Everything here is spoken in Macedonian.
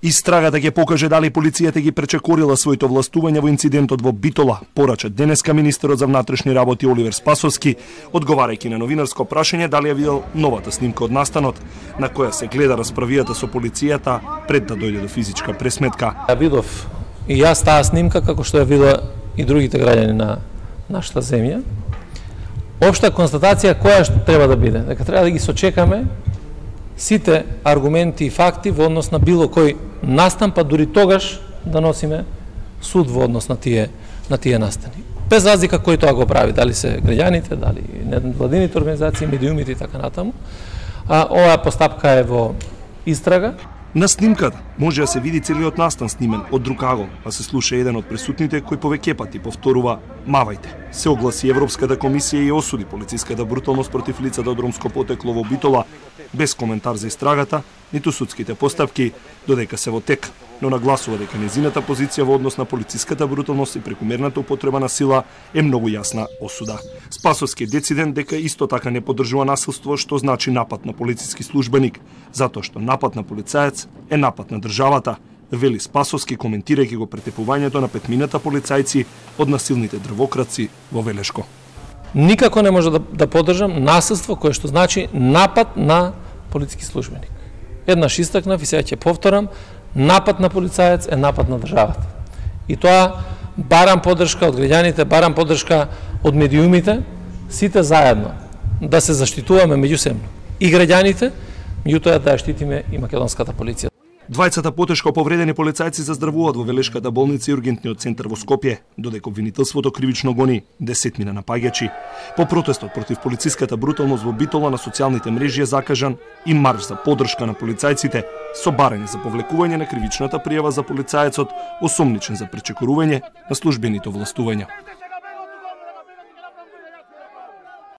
Истрагата ќе покаже дали полицијата ги пречекорила своите властувања во инцидентот во Битола, порача денеска министерот за внатрешни работи Оливер Спасовски, одговарајќи на новинарско прашање дали ја видел новата снимка од настанот, на која се гледа расправијата со полицијата пред да дојде до физичка пресметка. Ја видов и јас таа снимка како што ја видела и другите граѓани на нашата земја. Општа констатација која што треба да биде, дека треба да ги сочекаме сите аргументи и факти во однос на било кој настан, па дури тогаш да носиме суд во однос на тие настани. Без разлика кој тоа го прави, дали се граѓаните, дали невладините организации, медиумите и така натаму. Оваа постапка е во истрага. На снимката може да се види целиот настан снимен од друг агол, а се слуша еден од присутните кој повеќе пати повторува "мавајте". Се огласи Европската комисија и осуди полициската бруталност против лицата од ромско потекло во Битола, без коментар за истрагата, ниту судските постапки, додека се во тек, но нагласува дека незината позиција во однос на полициската бруталност и прекумерната употреба на сила е многу јасна осуда. Спасовски е дециден дека исто така не поддржува насилство, што значи напад на полициски службеник, затоа што напад на полицаец е напад на државата, вели Спасовски коментирајќи го претепувањето на петмината полицајци од насилните дрвокраци во Велешко. Никако не може да поддржам насилство кое што значи напад на полициски службеник. Еднаш истакнав и сега ќе повторам, напад на полицаец е напад на државата. И тоа барам поддршка од граѓаните, барам поддршка од медиумите, сите заедно да се заштитуваме меѓусебно. И граѓаните, меѓутоа да ја штитиме и македонската полиција. Двајцата потешко повредени полицајци заздравуваат во Велешката болница и ургентниот центар во Скопје, додека обвинителството кривично гони десетмина напаѓачи. По протестот против полициската бруталност во Битола на социјалните мрежи е закажан и марш за поддршка на полицајците, со барање за повлекување на кривичната пријава за полицајецот, осомничен за пречекорување на службените властувања.